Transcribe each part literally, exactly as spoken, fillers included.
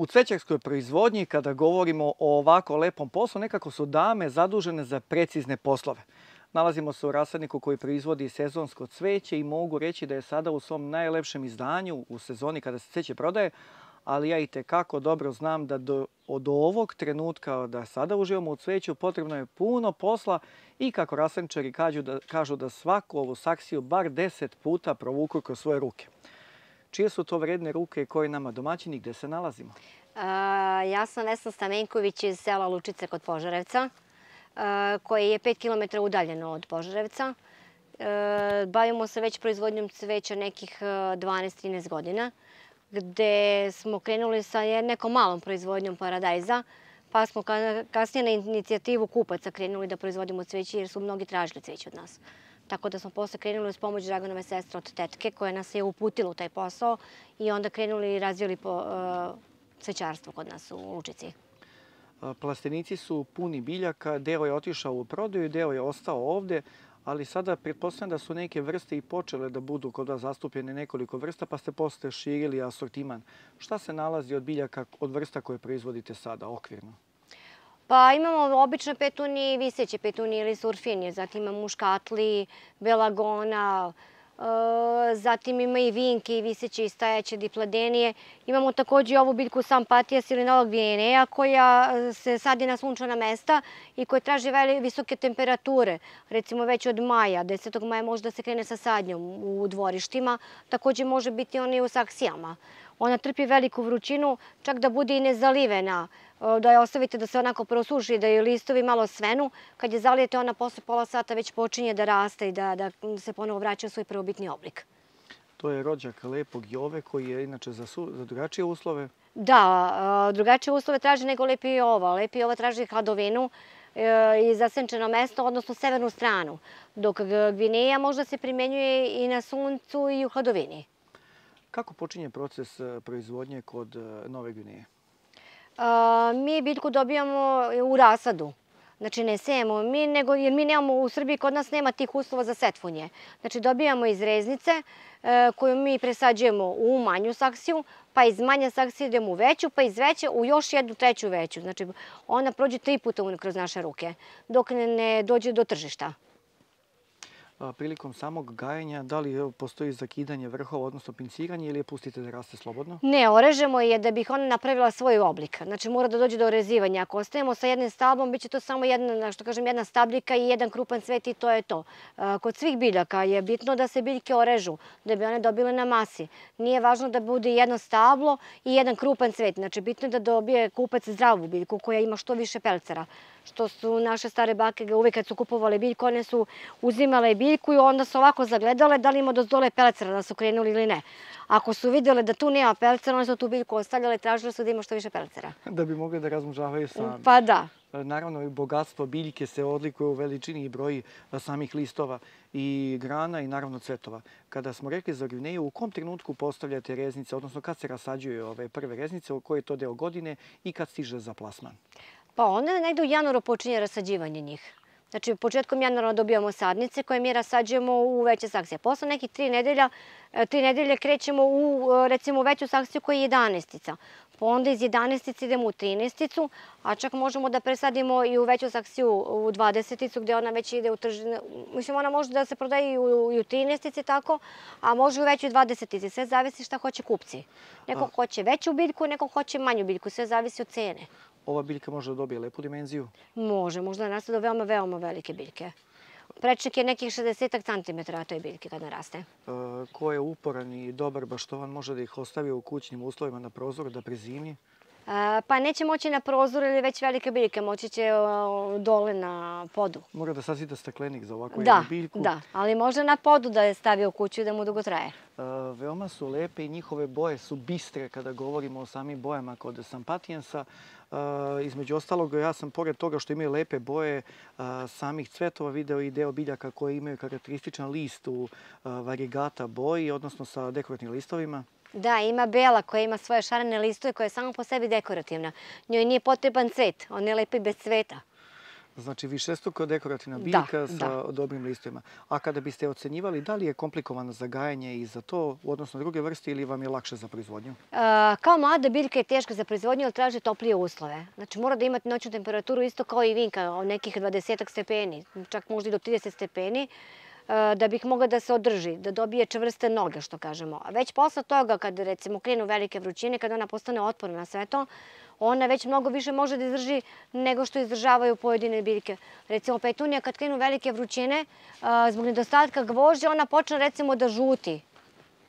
U cvećarskoj proizvodnji, kada govorimo o ovako lepom poslu, nekako su dame zadužene za precizne poslove. Nalazimo se u rasadniku koji proizvodi sezonsko cveće i mogu reći da je sada u svom najlepšem izdanju u sezoni kada se cveće prodaje, ali ja i tekako dobro znam da do, od ovog trenutka da sada uživamo u cveću potrebno je puno posla i kako rasadničari kažu da, kažu da svaku ovu saksiju bar deset puta provuku kroz svoje ruke. Čije su to vredne ruke koje nama domaćini, gde se nalazimo? A, ja sam Vesna Stamenković iz sela Lučice kod Požarevca, a, koje je pet kilometara udaljeno od Požarevca. A, bavimo se već proizvodnjom cveća nekih dvanaest trinaest godina, gde smo krenuli sa nekom malom proizvodnjom paradajza, pa smo kasnije na inicijativu kupaca krenuli da proizvodimo cveće jer su mnogi tražili cveće od nas. Tako da smo posle krenuli uz pomoć Draganove sestre od tetke koja nas je uputila u taj posao i onda krenuli i razvili po, uh, cvećarstvo kod nas u Lučici. Plastenici su puni biljaka, deo je otišao u prodaju, deo je ostao ovde, ali sada pretpostavljam da su neke vrste i počele da budu kod vas zastupljene nekoliko vrsta, pa ste posle širili asortiman. Šta se nalazi od biljaka, od vrsta koje proizvodite sada, okvirno? Pa imamo obične petunije i viseće petunije ili surfinije, zatim imamo muškatli, belagona, zatim ima i vinke i viseće i stajaće dipladenije. Imamo također i ovu biljku Sampatijas ili Novog Gvineja koja se sadi na sunčana mesta i koja traži visoke temperature. Recimo već od maja, desetog maja može da se krene sa sadnjom u dvorištima. Također može biti ona i u saksijama. Ona trpi veliku vrućinu, čak da bude i nezalivena, da je ostavite da se onako prosuši, da je listovi malo svenu. Kad je zalijete, ona posle pola sata već počinje da raste i da, da se ponovo vraća u svoj prvobitni oblik. To je rođak lepog Jove koji je inače za, su, za drugačije uslove? Da, drugačije uslove traži nego lepi Jova. Lepi Jova traži hladovinu i zasenčeno mesto, odnosno severnu stranu, dok Gvineja možda se primenjuje i na suncu i u hladovini. Kako počinje proces proizvodnje kod Nove Gvineje? Mi biljku dobijamo u rasadu. Znači ne sejemo mi, nego jer mi nemamo u Srbiji, kod nas nema tih uslova za setvunje. Znači dobijamo iz reznice koju mi presađujemo u manju saksiju, pa iz manje saksije idemo u veću, pa iz veće u još jednu treću veću. Znači ona prođe tri puta kroz naše ruke dok ne dođe do tržišta. Prilikom samog gajenja, da li postoji zakidanje vrhova, odnosno pinciranje ili je pustite da raste slobodno? Ne, orežemo je da bih ona napravila svoj oblik. Znači mora da dođe do orezivanja. Ako ostajemo sa jednim stablom, bit će to samo jedna, što kažem, jedna stabljika i jedan krupan cvet i to je to. Kod svih biljaka je bitno da se biljke orežu, da bi one dobile na masi. Nije važno da bude jedno stablo i jedan krupan cvet. Znači bitno je da dobije kupac zdravu biljku koja ima što više pelcera. Što su naše stare bake uvijek kad su kupovale biljku, one su uzimale biljku i onda su ovako zagledale da li ima dole pelcera da su krenuli ili ne. Ako su vidjele da tu nema pelcera, one su tu biljku ostavljale i tražile su da ima što više pelcera. Da bi mogli da razmnožavaju sami. Pa da. Naravno, i bogatstvo biljke se odlikuje u veličini i broji samih listova i grana i naravno cvetova. Kada smo rekli za Gvineju, u kom trenutku postavljate reznice, odnosno kad se rasađuju ove prve reznice, u koji je to deo godine i kad stiže za plasman? Pa onda negde u januaru počinje rasađivanje njih. Znači, početkom januara dobijamo sadnice koje mi rasađujemo u veće saksije. Posle nekih tri nedelja, tri nedelje krećemo u, recimo, veću saksiju koja je jedanaestica. Pa onda iz jedanaestice idemo u trinaesticu, a čak možemo da presadimo i u veću saksiju u dvadeseticu gde ona već ide u tržine. Mislim, ona može da se prodaje i u, i u trinaestici tako, a može i u većoj dvadesetici. Sve zavisi šta hoće kupci. Neko hoće veću biljku, neko hoće manju biljku. Sve zavisi od cene. Ova biljka može da dobije lepu dimenziju? Može, možda naraste do veoma, veoma velike biljke. Prečnik je nekih šezdeset centimetara toj biljke kad naraste. E, ko je uporan i dobar baštovan može da ih ostavi u kućnim uslovima na prozoru da prezimi? E, pa neće moći na prozoru ili već velike biljke, moći će o, dole na podu. Mora da sazida staklenik za ovakvu da, jednu biljku? Da, ali može na podu da je stavi u kuću i da mu dugo traje. E, veoma su lepe i njihove boje su bistre kada govorimo o samim bojama kod Sampatijansa. Uh, između ostalog, ja sam pored toga što imaju lepe boje uh, samih cvetova video i deo biljaka koje imaju karakterističan list u uh, varigata boji, odnosno sa dekorativnim listovima. Da, ima bela koja ima svoje šarene listove koja je samo po sebi dekorativna. Njoj nije potreban cvet, on je lepi bez cveta. Znači višestruko dekorativna biljka sa dobrim listovima. A kada biste ocenjivali, da li je komplikovano za gajanje i za to, odnosno druge vrste, ili vam je lakše za proizvodnju? Kao mlada biljka je teška za proizvodnju, ali traži toplije uslove. Znači mora da imate noćnu temperaturu isto kao i vinka, nekih dvadesetak stepeni, čak možda i do trideset stepeni, da bih mogla da se održi, da dobije čvrste noge, što kažemo. A već posle toga, kad recimo krenu velike vrućine, kad ona postane otporna na sve to, ona već mnogo više može da izdrži nego što izdržavaju pojedine biljke. Recimo petunija, kad krenu velike vrućine, zbog nedostatka gvožđa, ona počne recimo da žuti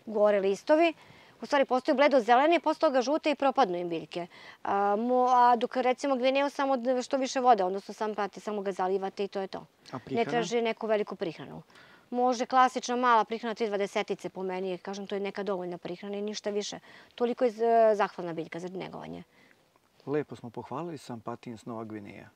gore listovi. U stvari postaju bledo zeleni, posle toga žute i propadnu im biljke. A dok recimo gvineju samo što više vode, odnosno sam prati, samo ga zalivate i to je to. Ne traži neku veliku prihranu. Može klasična mala prihrana tri dvadesetice po meni, kažem to je neka dovoljna prihrana i ništa više. Toliko je zahvalna biljka za negovanje. Lepo smo pohvalili Sampatiens Nova Gvineja.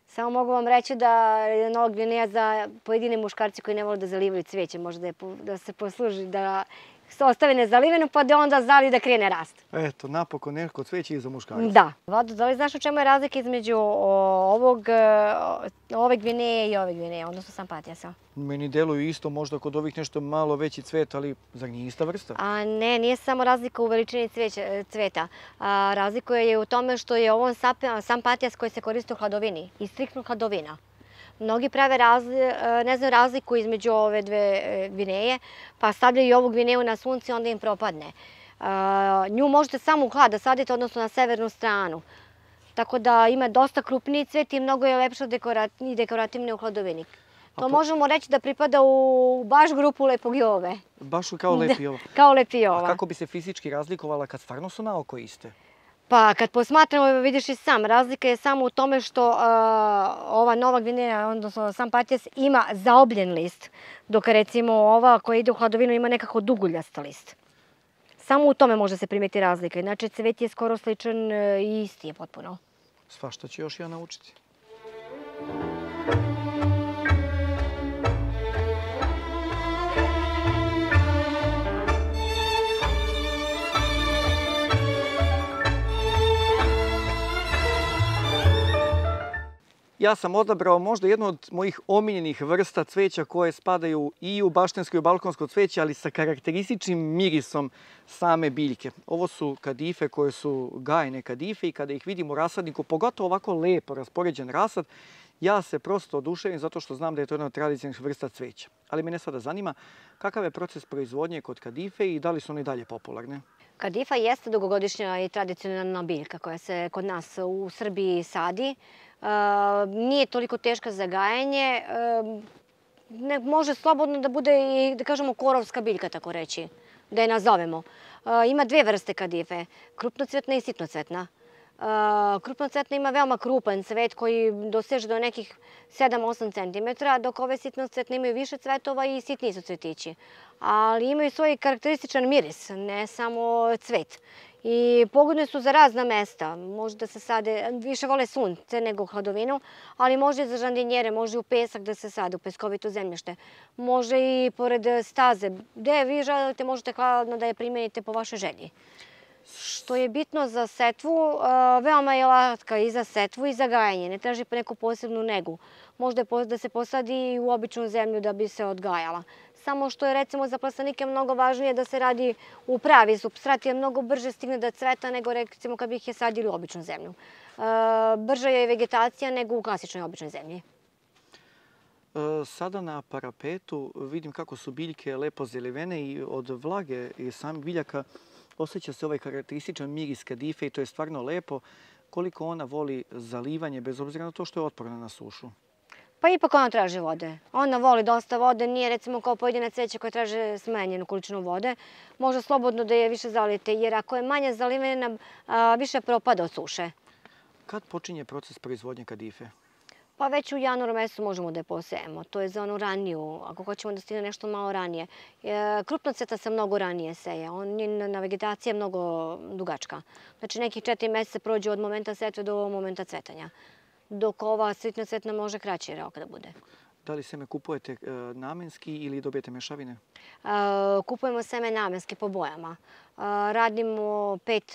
Samo mogu vam reći da je Nova Gvineja za pojedine muškarci koji ne vole da zalivaju cveće, može da se posluži da se ostave nezaliveno pa da onda zali da krene rast. Eto, napokon neko cveće i za muškarce. Da. Vlado, da li znaš u čemu je razlika između ove Gvineje i ove Gvineje, odnosno Sampatiasa? Meni deluju isto, možda kod ovih nešto malo veći cvet, ali zar nije ista vrsta? A ne, nije samo razlika u veličini cveta. Razlika je u tome što je ovo Sampatias koji se koristi u hladovini i striktno hladovina. Mnogi prave ne znaju razliku između ove dve gvineje, pa stavljaju i ovu gvineju na sunce i onda im propadne. Nju možete samo u hlad da sadite, odnosno na severnu stranu. Tako da ima dosta krupniji cvet i mnogo je lepša i dekorativnija u hladovini. To možemo reći da pripada u baš grupu lepogijove. Baš kao lepijova. Kao lepijova. A kako bi se fizički razlikovala kad stvarno su na oko iste? Pa kad posmatramo, vidiš i sam, razlika je samo u tome što ova Nova Gvineja, odnosno Sampatias, ima zaobljen list, dok recimo ova koja ide u hladovinu ima nekako duguljast list. Samo u tome može se primeti razlika, inače cvet je skoro sličan i isti je potpuno. Svašta ću još ja naučiti. Ja sam odabrao možda jednu od mojih omiljenih vrsta cveća koje spadaju i u baštensko i u balkonsko cveće, ali sa karakterističnim mirisom same biljke. Ovo su kadife koje su gajne kadife i kada ih vidim u rasadniku, pogotovo ovako lepo raspoređen rasad, ja se prosto oduševim zato što znam da je to jedna od tradicionalnih vrsta cveća. Ali mene sada zanima kakav je proces proizvodnje kod kadife i da li su one i dalje popularne? Kadifa jeste dugogodišnja i tradicionalna biljka koja se kod nas u Srbiji sadi. Nije toliko teška za gajanje. Može slobodno da bude i, da kažemo, korovska biljka, tako reći, da je nazovemo. Ima dve vrste kadife, krupnocvetna i sitnocvetna. Krupnocvetna ima veoma krupan cvet koji doseže do nekih sedam do osam centimetara, dok ove sitnocvetne imaju više cvetova i sitniji su cvetići. Ali imaju svoj karakterističan miris, ne samo cvet. I pogodne su za razna mesta. Može da se sade, više vole sunce nego hladovinu, ali može i za žardinjere, može i u pesak da se sade, u peskovito zemljište. Može i pored staze. Gde vi želite, možete hladno da je primenite po vašoj želji. Što je bitno za setvu, veoma je latka i za setvu i za gajanje. Ne traži neku posebnu negu. Može da se posadi i u običnu zemlju da bi se odgajala. Samo što je recimo za plastenike mnogo važnije da se radi u pravi supstrat, jer mnogo brže stigne da cveta nego recimo kad bi ih je sadili u običnu zemlju. Brža je vegetacija nego u klasičnoj običnoj zemlji. Sada na parapetu vidim kako su biljke lepo zelivene i od vlage i samih biljaka osjeća se ovaj karakterističan miris kadife i to je stvarno lepo. Koliko ona voli zalivanje, bez obzira na to što je otporna na sušu? Pa ipak ona traži vode. Ona voli dosta vode, nije recimo kao pojedine cveće koje traže smanjenu količinu vode. Može slobodno da je više zalite, jer ako je manje zalivena, više propada od suše. Kad počinje proces proizvodnje kadife? Pa već u januaru mesecu možemo da je posejemo. To je za onu raniju, ako hoćemo da stigne nešto malo ranije. Krupnocveta se mnogo ranije seje. Na vegetacija je mnogo dugačka. Znači nekih četiri meseca prođe od momenta setve do momenta cvetanja. Dok ova sitnocvetna može kraći rok da bude. Da li seme kupujete namenski ili dobijete mešavine? Kupujemo seme namenski po bojama. Radimo pet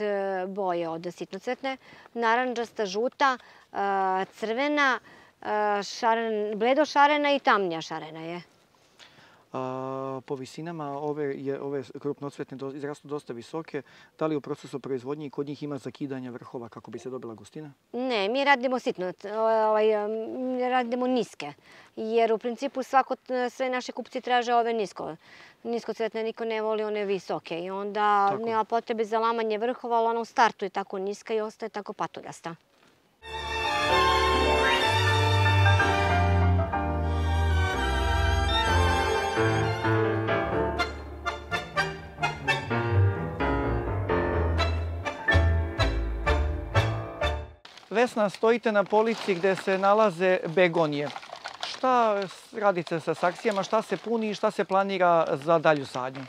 boje od sitnocvetne, naranđasta, žuta, crvena, bledo šarena i tamnija šarena je. Po visinama ove krupnocvetne izrastu dosta visoke. Da li u procesu proizvodnje kod njih ima zakidanja vrhova kako bi se dobila gustina? Ne, mi radimo sitno, radimo niske. Jer u principu sve naše kupci traže ove nisko. Niskocvetne niko ne voli one visoke. I onda nema potrebe za lamanje vrhova, ali ona u startu je tako niska i ostaje tako patuljasta. Vesna, stojite na polici gdje se nalaze begonije. Šta radite sa saksijama, šta se puni i šta se planira za dalju sadnju?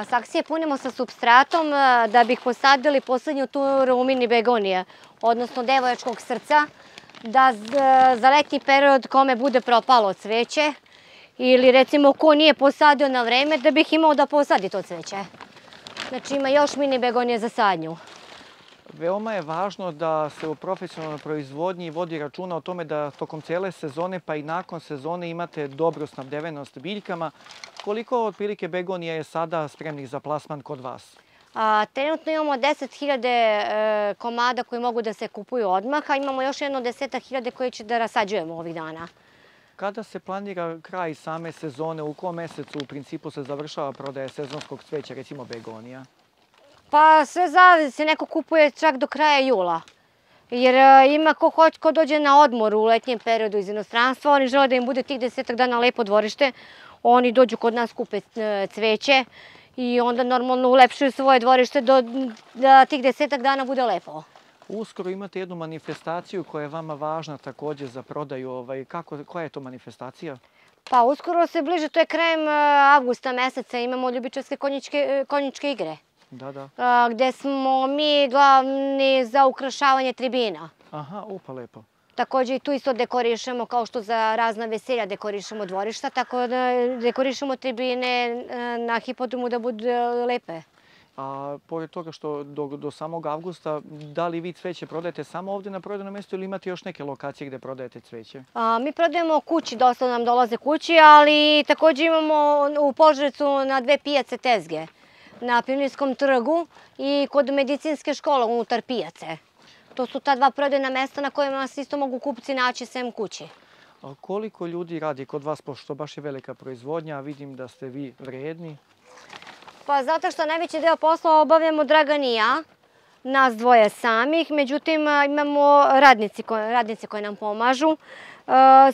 Saksije punimo sa supstratom da bih posadili poslednju turu mini begonije, odnosno devojačkog srca, da za letnji period kome bude propalo cveće ili recimo ko nije posadio na vreme da bih imao da posadi to cveće. Znači ima još mini begonije za sadnju. Veoma je važno da se u profesionalnoj proizvodnji vodi računa o tome da tokom cijele sezone pa i nakon sezone imate dobru snabdevenost biljkama. Koliko otprilike begonija je sada spremnih za plasman kod vas? Trenutno imamo deset hiljada komada koji mogu da se kupuju odmah, a imamo još jedno desetak hiljada koje će da rasađujemo ovih dana. Kada se planira kraj same sezone, u kom mesecu u principu se završava prodaja sezonskog cveća, recimo begonija? Pa sve zavisi, neko kupuje čak do kraja jula. Jer ima ko hoće, ko dođe na odmor u letnjem periodu iz inostranstva, oni žele da im bude tih desetak dana lepo dvorište, oni dođu kod nas, kupe cveće i onda normalno ulepšuju svoje dvorište da tih desetak dana bude lepo. Uskoro imate jednu manifestaciju koja je vama važna također za prodaju. Koja je to manifestacija? Pa uskoro se bliže, to je krajem avgusta meseca, imamo ljubičarske konjičke igre. Da, da. Gde smo mi glavni za ukrašavanje tribina. Aha, upa lepo. Također i tu isto dekorišemo, kao što za razna veselja dekorišemo dvorišta, tako da dekorišemo tribine na hipodromu da budu lepe. A pored toga što do samog avgusta, da li vi cveće prodajete samo ovdje na prodajnom mjestu ili imate još neke lokacije gdje prodajete cveće? Mi prodajemo kući, dosta nam dolaze kući, ali također imamo u Požarevcu na dve pijace tezge. Na Pionirskom trgu i kod medicinske škole unutar pijace. To su ta dva prodajna mesta na kojima se isto mogu kupci naći sem kući. Koliko ljudi radi kod vas, pošto baš je velika proizvodnja, a vidim da ste vi vredni? Pa zato što najveći deo posla obavljamo Dragan i ja, nas dvoje samih, međutim imamo radnici koji nam pomažu.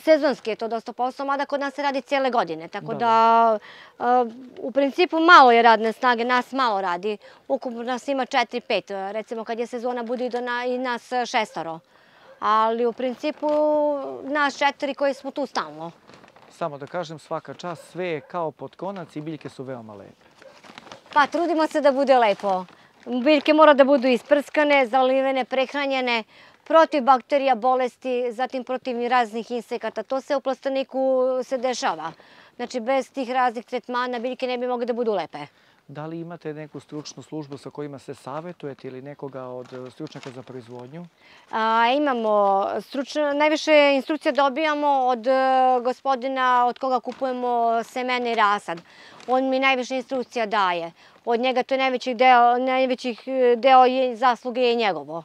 Sezonski je to dosta posao, mada kod nas se radi cijele godine, tako da u principu malo je radne snage, nas malo radi. Ukupno nas ima četiri pet, recimo kad je sezona bude i nas šestoro. Ali u principu nas četiri koji smo tu stalno. Samo da kažem, svaka čast, sve je kao pod konac i biljke su veoma lepe. Pa trudimo se da bude lepo. Biljke mora da budu isprskane, zalivene, prehranjene, protiv bakterija, bolesti, zatim protiv raznih insekata. To se u plasteniku se dešava. Znači, bez tih raznih tretmana biljke ne bi mogle da budu lepe. Da li imate neku stručnu službu sa kojima se savjetujete ili nekoga od stručnjaka za proizvodnju? Imamo. Najviše instrukcija dobijamo od gospodina od koga kupujemo semene i rasad. On mi najviše instrukcija daje. Od njega to je najveći deo zasluge je njegovo.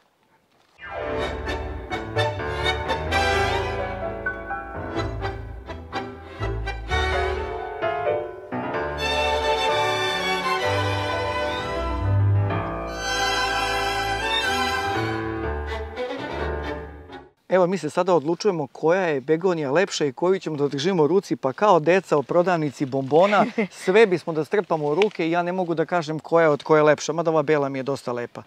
Evo, mi se sada odlučujemo koja je begonija lepša i koju ćemo da držimo u ruci, pa kao deca u prodavnici bombona, sve bismo da strpamo u ruke i ja ne mogu da kažem koja je od koje je lepša, mada ova bela mi je dosta lepa.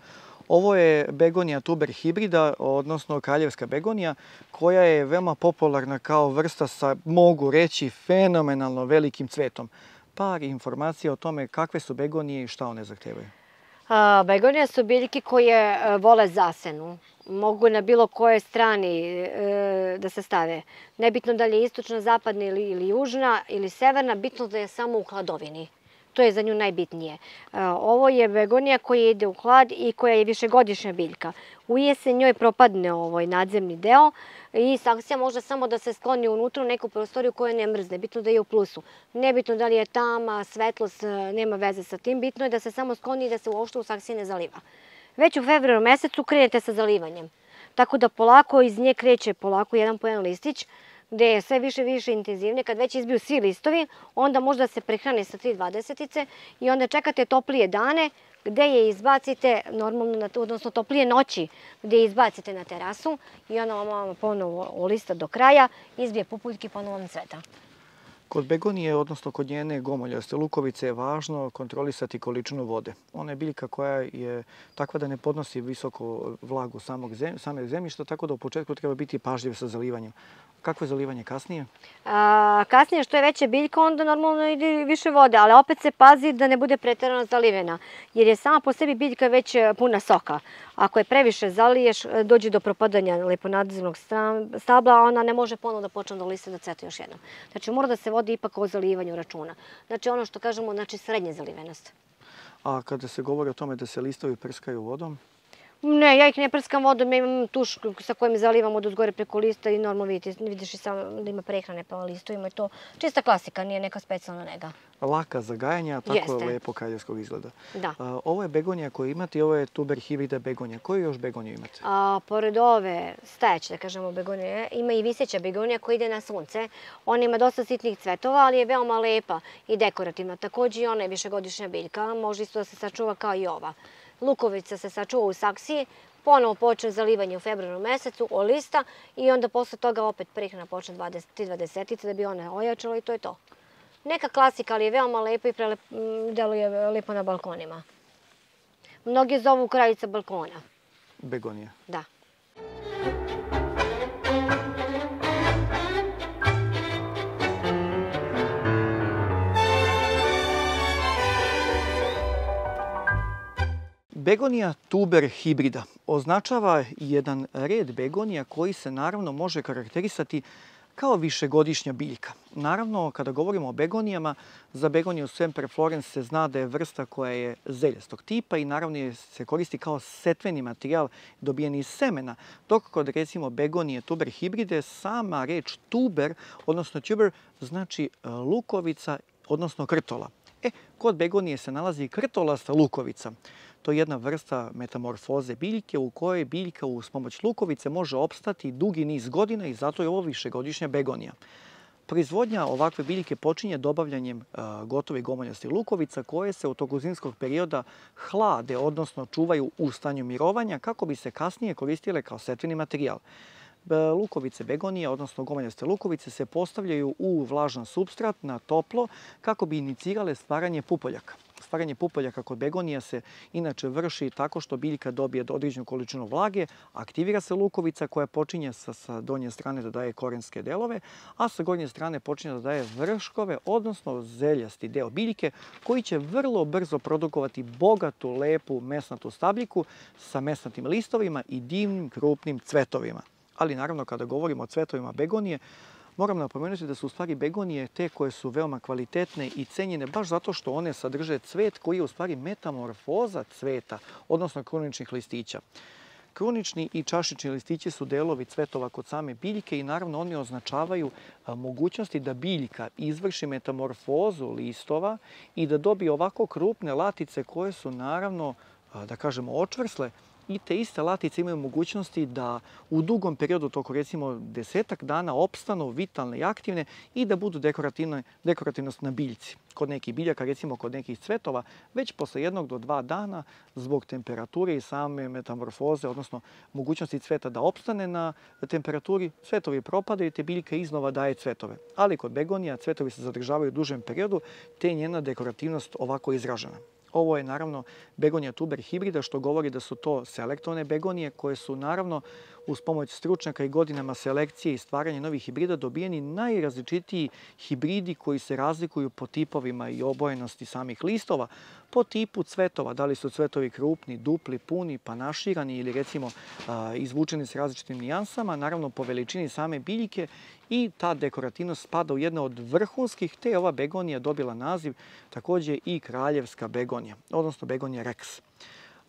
Ovo je begonija tuber hibrida, odnosno kraljevska begonija, koja je veoma popularna kao vrsta sa, mogu reći, fenomenalno velikim cvetom. Par informacija o tome kakve su begonije i šta one zahtevaju. Begonije su biljke koje vole zasenu. Mogu na bilo kojoj strani da se stave. Nebitno da li je istočna, zapadna ili južna ili severna, bitno da je samo u hladovini. To je za nju najbitnije. Ovo je begonija koja ide u hlad i koja je višegodišnja biljka. U jesen njoj propadne ovaj nadzemni deo i saksija može samo da se skloni unutra u neku prostoriju koja ne mrzne. Bitno da je u plusu. Nebitno da li je tama, svetlost, nema veze sa tim. Bitno je da se samo skloni i da se uopšte u saksiji ne zaliva. Već u februaru mesecu krenete sa zalivanjem. Tako da polako iz nje kreće polako jedan po jedan listić, gde je sve više i više intenzivnije. Kad već izbiju svi listovi, onda možda se prehrane sa tri dvadesetice i onda čekate toplije dane gde je izbacite, normalno, odnosno toplije noći, gde je izbacite na terasu i ona vam ponovo olista do kraja, izbije pupuljke i ponovo vam cveta. Kod begonije, odnosno kod njene gomoljaste lukovice, je važno kontrolisati količinu vode. Ona je biljka koja je takva da ne podnosi visoku vlagu samog zemljišta, tako da u početku treba biti pažljiv sa zalivanjem. Kako je zalivanje kasnije? Kasnije, što je veća biljka, onda normalno ide više vode, ali opet se pazi da ne bude preterano zalivena, jer je sama po sebi biljka već puna soka. Ako je previše zaliješ, dođe do propadanja leponadzemnog stabla, a ona ne može ponovo da počne da liste da cveta još jednom. Znači, mora da se vodi ipak o zalivanju računa. Znači, ono što kažemo, znači srednje zalivenost. A kada se govori o tome da se listovi prskaju vodom? Ne, ja ih ne prskam vodom, ja imam tuš sa kojim zalivam od uzgore preko lista i normalno vidiš i sam da ima prehrane pa listovima i to. Čista klasika, nije neka specijalna nega. Laka za gajanje, a tako lepo kraljevskog izgleda. Da. Ovo je begonija koju imate i ovo je tuber hibrida begonija. Koju još begoniju imate? Pored ove stajeće, da kažemo, begonije, ima i viseća begonija koja ide na sunce. Ona ima dosta sitnih cvetova, ali je veoma lepa i dekorativna. Također i ona je višegodišnja biljka, može isto da se sačuva kao i ova. Lukovica se sačuva u saksiji, ponovo počne zalivanje u februaru mesecu, olista i onda posle toga opet prehrana počne tri dvadesetice da bi ona ojačala i to je to. Neka klasika, ali je veoma lepa i deluje lepo na balkonima. Mnogi zovu kraljica balkona. Begonija. Da. Begonija tuber hibrida označava jedan red begonija koji se naravno može karakterisati kao višegodišnja biljka. Naravno, kada govorimo o begonijama, za begoniju Semper Florens se zna da je vrsta koja je zeljastog tipa i naravno se koristi kao setveni materijal dobijen iz semena. Dok kod recimo begonije tuber hibride sama reč tuber, odnosno tuber, znači lukovica, odnosno krtola. E, kod begonije se nalazi krtolasta lukovica. To je jedna vrsta metamorfoze biljke u kojoj biljka uz pomoć lukovice može opstati dugi niz godina i zato je ovo višegodišnja begonija. Proizvodnja ovakve biljke počinje dobavljanjem gotovih gomoljastih lukovica koje se u toku zimskog perioda hlade, odnosno čuvaju u stanju mirovanja kako bi se kasnije koristile kao setveni materijal. Lukovice begonije, odnosno gomoljaste lukovice, se postavljaju u vlažan supstrat na toplo kako bi inicirale stvaranje pupoljaka. Stvaranje pupoljaka kod begonija se inače vrši tako što biljka dobije određenu količinu vlage, aktivira se lukovica koja počinje sa donje strane da daje korenske delove, a sa gornje strane počinje da daje vrškove, odnosno zeljasti deo biljke koji će vrlo brzo produkovati bogatu, lepu mesnatu stabljiku sa mesnatim listovima i divnim krupnim cvetovima. Ali naravno kada govorimo o cvetovima begonije, moram napomenuti da su u stvari begonije te koje su veoma kvalitetne i cenjene baš zato što one sadrže cvet koji je u stvari metamorfoza cveta, odnosno kruničnih listića. Krunični i čašični listići su delovi cvetova kod same biljke i naravno oni označavaju mogućnosti da biljka izvrši metamorfozu listova i da dobije ovako krupne latice koje su naravno, da kažemo, očvrsle. I te iste latice imaju mogućnosti da u dugom periodu, toko recimo desetak dana, opstanu vitalne i aktivne i da budu dekorativnost na biljci. Kod nekih biljaka, recimo kod nekih cvetova, već posle jednog do dva dana zbog temperature i same metamorfoze, odnosno mogućnosti cveta da opstane na temperaturi, cvetovi propadaju i te biljka iznova daje cvetove. Ali kod begonija cvetovi se zadržavaju u dužem periodu, te je njena dekorativnost ovako izražena. Ovo je naravno begonija tuber hibrida, što govori da su to selektovne begonije koje su naravno uz pomoć stručnjaka i godinama selekcije i stvaranja novih hibrida dobijeni najrazličitiji hibridi koji se razlikuju po tipovima i obojenosti samih listova, po tipu cvetova, da li su cvetovi krupni, dupli, puni, panaširani ili recimo izvučeni s različitim nijansama, naravno po veličini same biljke, i ta dekorativnost spada u jedno od vrhunskih, te je ova begonija dobila naziv također i kraljevska begonija, odnosno begonija Rex.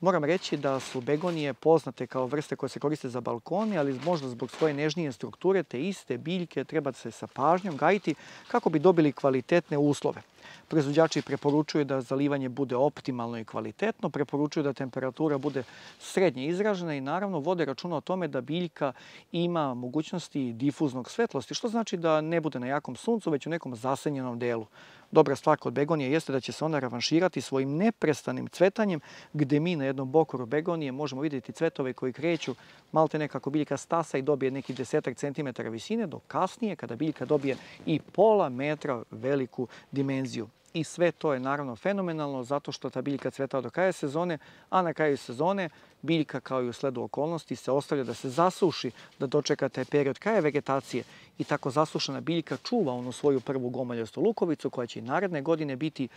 Moram reći da su begonije poznate kao vrste koje se koriste za balkone, ali možda zbog svoje nežnije strukture te iste biljke treba se sa pažnjom gajiti kako bi dobili kvalitetne uslove. Proizvođači preporučuju da zalivanje bude optimalno i kvalitetno, preporučuju da temperatura bude srednje izražena i naravno vode računa o tome da biljka ima mogućnosti difuznog svetlosti, što znači da ne bude na jakom suncu, već u nekom zasenjenom delu. Dobra stvar kod begonije jeste da će se ona revanširati svojim neprestanim cvetanjem, gdje mi na jednom bokoru begonije možemo vidjeti cvetove koji kreću malte nekako biljka stasa i dobije neki desetak centimetara visine, dok kasnije kada biljka dobije i pola metra veliku dimenziju. I sve to je naravno fenomenalno zato što ta biljka cveta do kraja sezone, a na kraju sezone biljka kao i u sledu okolnosti se ostavlja da se zasuši, da dočeka taj period kraja vegetacije i tako zasušena biljka čuva onu svoju prvu gomoljastu lukovicu koja će i naredne godine biti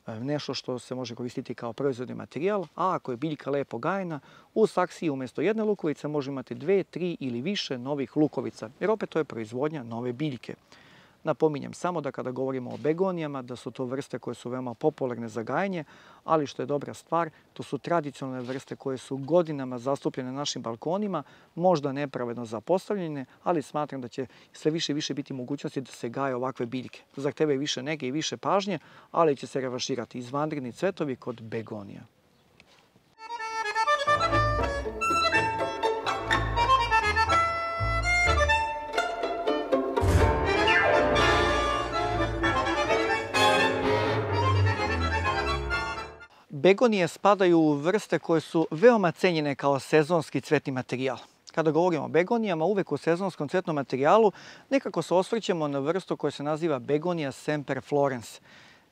nešto što se može koristiti kao proizvodni materijal, a ako je biljka lepo gajena, u saksiji umjesto jedne lukovice može imati dve, tri ili više novih lukovica, jer opet to je proizvodnja nove biljke. Napominjem samo da kada govorimo o begonijama, da su to vrste koje su veoma popularne za gajanje, ali što je dobra stvar, to su tradicionalne vrste koje su godinama zastupljene na našim balkonima, možda nepravedno zapostavljene, ali smatram da će sve više i više biti mogućnosti da se gaje ovakve biljke. Zahtevaju više nege i više pažnje, ali će se revanširati izvanredni cvetovi kod begonija. Begonije spadaju u vrste koje su veoma cenjene kao sezonski cvetni materijal. Kada govorimo o begonijama, uvek u sezonskom cvetnom materijalu nekako se osvrćemo na vrstu koja se naziva begonija semperflorens.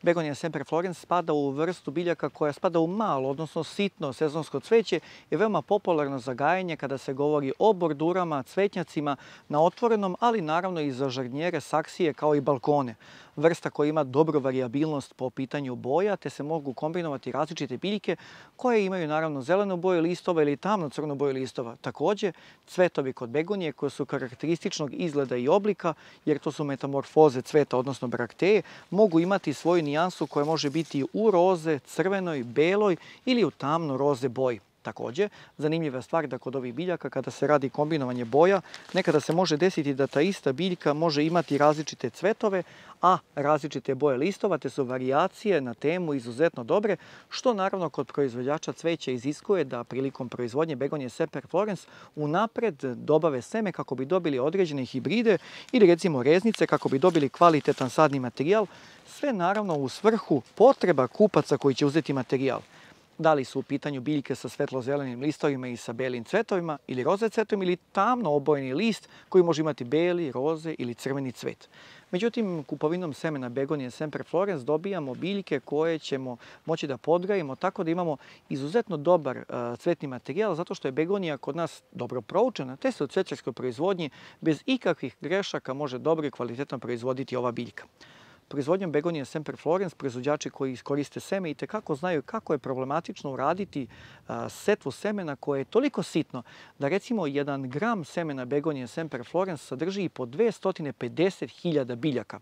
Begonija semperflorens spada u vrstu biljaka koja spada u malo, odnosno sitno sezonsko cveće, je veoma popularno za gajanje kada se govori o bordurama, cvetnjacima na otvorenom, ali naravno i za žardinjere, saksije kao i balkone. Vrsta koja ima dobru varijabilnost po pitanju boja, te se mogu kombinovati različite biljke koje imaju naravno zelenu boju listova ili tamno crnu boju listova. Također, cvetovi kod begonije koje su karakterističnog izgleda i oblika, jer to su metamorfoze cveta, odnosno brakteje, mogu imati svoju nijansu koja može biti u roze, crvenoj, beloj ili u tamno roze boji. Također, zanimljiva stvar da kod ovih biljaka kada se radi kombinovanje boja, nekada se može desiti da ta ista biljka može imati različite cvetove, a različite boje listova, te su varijacije na temu izuzetno dobre, što naravno kod proizvođača cveća iziskuje da prilikom proizvodnje begonije semperflorens unapred dobave seme kako bi dobili određene hibride ili recimo reznice kako bi dobili kvalitetan sadni materijal, sve naravno u svrhu potreba kupaca koji će uzeti materijal. Da li su u pitanju biljke sa svetlo-zelenim listovima i sa belim cvetovima ili roze cvetom ili tamno obojeni list koji može imati beli, roze ili crveni cvet. Međutim, kupovinom semena begonije semperflorens dobijamo biljke koje ćemo moći da podgajimo tako da imamo izuzetno dobar uh, cvetni materijal zato što je begonija kod nas dobro proučena, te se u cvećarskoj proizvodnji bez ikakvih grešaka može dobro i kvalitetno proizvoditi ova biljka. Proizvodnjom begonije semperflorens proizvođači koji koriste seme itekako znaju kako je problematično uraditi a, setvu semena koje je toliko sitno da recimo jedan gram semena begonije semperflorens sadrži i po dvesta pedeset hiljada biljaka.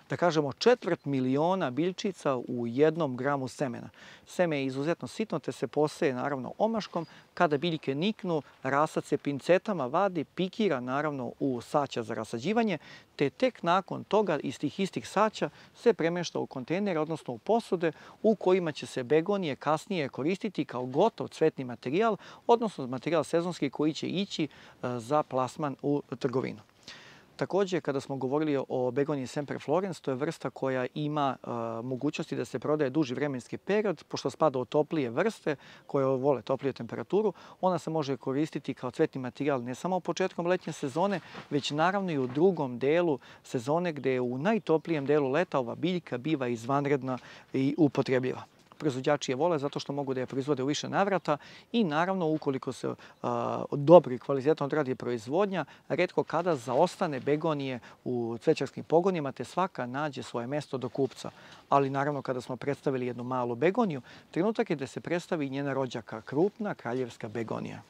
Da kažemo četvrt miliona biljčica u jednom gramu semena. Seme je izuzetno sitno te se poseje naravno omaškom. Kada biljke niknu, rasac se pincetama vadi, pikira naravno u saća za rasađivanje, te tek nakon toga iz tih istih saća se premješta u kontejnere, odnosno u posude u kojima će se begonije kasnije koristiti kao gotov cvetni materijal, odnosno materijal sezonski koji će ići za plasman u trgovinu. Također, kada smo govorili o begoniji semperflorens, to je vrsta koja ima uh, mogućnosti da se prodaje duži vremenski period, pošto spada u toplije vrste koje vole topliju temperaturu. Ona se može koristiti kao cvetni materijal ne samo početkom letnje sezone, već naravno i u drugom delu sezone gdje u najtoplijem delu leta ova biljka biva izvanredna i upotrebljiva. proizvođači je vole zato što mogu da je proizvode u više navrata i naravno ukoliko se dobro i kvalitetno odradi proizvodnja, retko kada zaostane begonije u cvećarskim pogonima te svaka nađe svoje mesto do kupca. Ali naravno kada smo predstavili jednu malu begoniju, trenutak je da se predstavi njena rođaka, krupna kraljevska begonija.